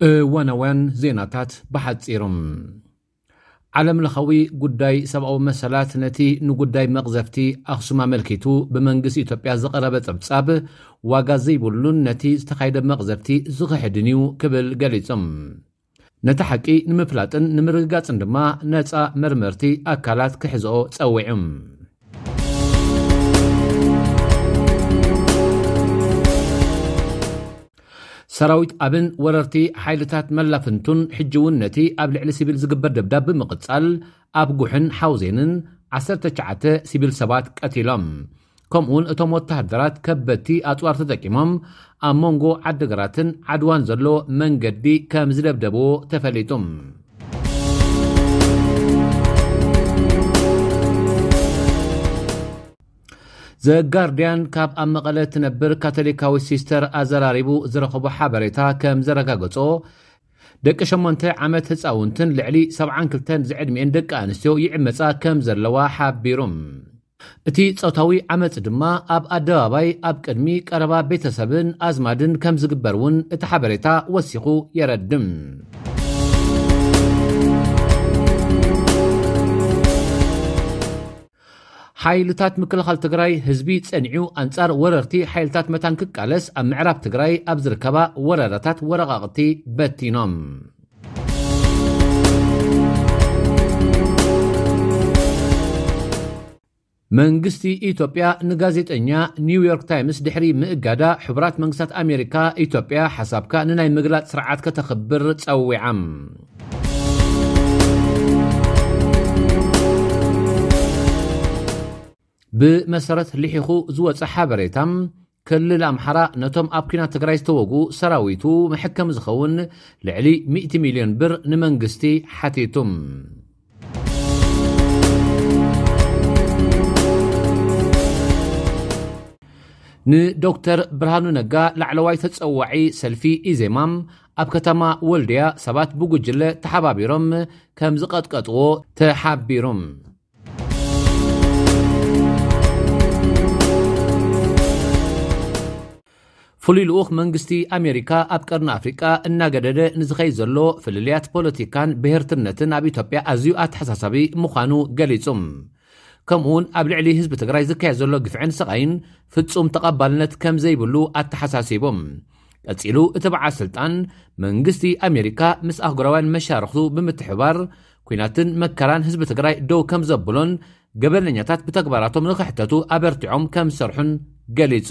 እዋናውያን ዜናታት ብሓጺሩ። ዓለምለኻዊ ጉዳይ ሰብኣዊ መሰላት ነቲ ንጉዳይ መቕዘፍቲ ኣኽሱም ኣመልኪቱ ብመንግስቲ ኢትዮጵያ ዝቐረበ ጸብጻብ ዋጋ ዘይብሉን ነቲ ዝተኻየደ መቕዘፍቲ ዝኽሕድን እዩ ክብል ገሊጹ። ነቲ ሓቂ ንምፍላጥን ንምርግጋጽን ድማ ነጻ መርመርቲ ኣካላት ክሕዝኦ ጸዊዑ። ሰራዊት ኣብን ወረርቲ ሓይልታት መላፍንቱን ሕጂ እውን ነቲ ኣብ ልዕሊ ሲቪል ዝግበር ደብዳብ ብምቕጻል ኣብ ጉሕን ሓውዜንን ዓሰርተ ትሽዓተ ሲቪል ሰባት ቀቲሎም። ከምኡውን እቶም ወተሃደራት ከበድቲ ኣጽዋር ተጠቂሞም ኣብ መንጎ ዓድግራትን ዓድዋን ዘሎ መንገዲ ከም ዝደብደብዎ ተፈሊጡ። ዘጋርድያን ካብ ኣብ መቐለ ትነብር ካቶሊካዊት ሲስተር ኣዘራሪቡ ዝረኸቦ ሓበሬታ ከም ዘረጋገጾ፣ ደቂ ሸሞንተ ዓመት ህፃውንትን ልዕሊ ሰብዓን ክልተን ዝዕድሚኤን ደቂ ኣንስትዮ ይዕመፃ ከም ዘለዋ ሓቢሩ። እቲ ጾታዊ ዓመፅ ድማ ኣብ ኣደባባይ ኣብ ቅድሚ ቀረባ ቤተሰብን ኣዝማድን ከም ዝግበር እውን እቲ ሓበሬታ ወሲኹ የረድም። ሓይልታት ምክልኻል ትግራይ ህዝቢ ጸኒዑ ኣንጻር ወረርቲ ሓይልታት መታን ክቃለስ ኣብ ምዕራብ ትግራይ ኣብ ዝርከባ ወረዳታት ወረቓቕቲ በቲኖም። መንግስቲ ኢትዮጵያ ንጋዜጠኛ ኒውዮርክ ታይምስ ድሕሪ ምእጋዳ፣ ሕቡራት መንግስታት ኣሜሪካ ኢትዮጵያ ሓሳብካ ንናይ ምግላጽ ስርዓት ከተኽብር ጸዊዓም። ብመሰረት ልሒኹ ዝወፀ ሓበሬታ፣ ክልል ኣምሓራ ነቶም ኣብ ኲናት ትግራይ ዝተወጉ ሰራዊቱ መሐከሚ ዝኸውን ልዕሊ ሚእቲ ሚልዮን ብር ንመንግስቲ ሓቲቱ። ንዶክተር ብርሃኑ ነጋ ላዕለዋይ ተጸዋዒ ሰልፊ ኢዜማ ኣብ ከተማ ወልድያ ሰባት ብጉጅለ ተሓባቢሮም ከም ዝቐጥቀጥዎ ተሓቢሩ። ፍሉይ ልኡኽ መንግስቲ ኣሜሪካ ኣብ ቀርኒ ኣፍሪቃ እናገደደ ንዝኸይድ ዘሎ ፍልልያት ፖለቲካን ብሄርትነትን ኣብ ኢትዮጵያ ኣዝዩ ኣተሓሳሳቢ ምዃኑ ገሊጹ። ከምኡውን ኣብ ልዕሊ ህዝቢ ትግራይ ዝካየድ ዘሎ ግፍዕን ስቓይን ፍጹም ተቐባልነት ከም ዘይብሉ ኣተሓሳሲቡ። ቀጺሉ እቲ በዓል ስልጣን፣ መንግስቲ ኣሜሪካ ምስ ኣህጉራውያን መሻርኽቱ ብምትሕባር ኲናትን መከራን ህዝቢ ትግራይ ደው ከም ዘብሎን ገበነኛታት ብተግባራቶም ንኽሕተቱ ኣበርቲዖም ከም ዝሰርሑን ገሊጹ።